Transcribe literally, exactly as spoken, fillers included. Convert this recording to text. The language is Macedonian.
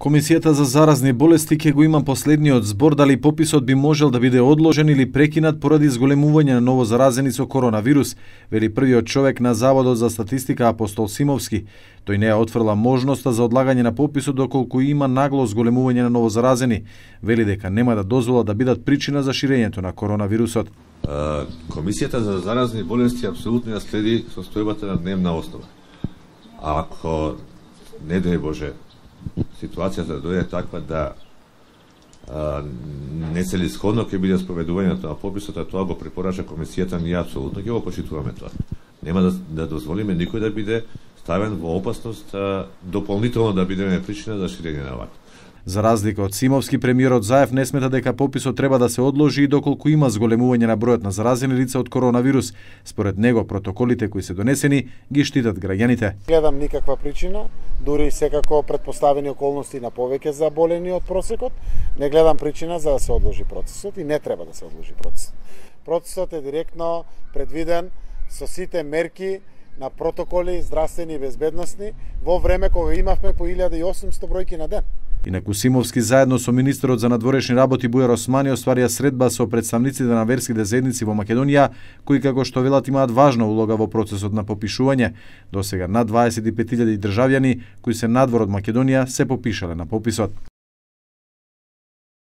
Комисијата за заразни болести ќе го има последниот збор дали пописот би можел да биде одложен или прекинат поради зголемување на ново заразени со коронавирус, вели првиот човек на Заводот за статистика Апостол Симовски. Тој не ја отфрла можноста за одлагање на пописот доколку има нагло зголемување на ново заразени. Вели дека нема да дозвола да бидат причина за ширењето на коронавирусот. Комисијата за заразни болести апсолутно ја следи состојбата на дневна основа. А ако не дај Боже ситуацијата да дојде таква да а, нецелисходно ќе биде спроведувањето на пописот, а тоа го препорача комисијата, ние апсолутно ќе го почитуваме тоа. Нема да, да дозволиме никој да биде ставен во опасност а, дополнително да бидеме причина за ширење на вакво. За разлика од Симовски, премиерот Заев не смета дека пописот треба да се одложи и доколку има зголемување на бројот на заразени лица од коронавирус. Според него, протоколите кои се донесени ги штитат граѓаните. Гледам никаква причина, дури секако предпоставени околности на повеќе заболени од просекот, не гледам причина за да се одложи процесот и не треба да се одложи процесот. Процесот е директно предвиден со сите мерки на протоколи здравствени и безбедносни во време кога имавме по илјада и осумсто бројки на ден. Инаку Симовски заедно со министерот за надворешни работи Бујар Османи остварија средба со представниците на верските заедници во Македонија, кои како што велат имаат важна улога во процесот на попишување. Досега над дваесет и пет илјади државјани кои се надвор од Македонија се попишале на пописот.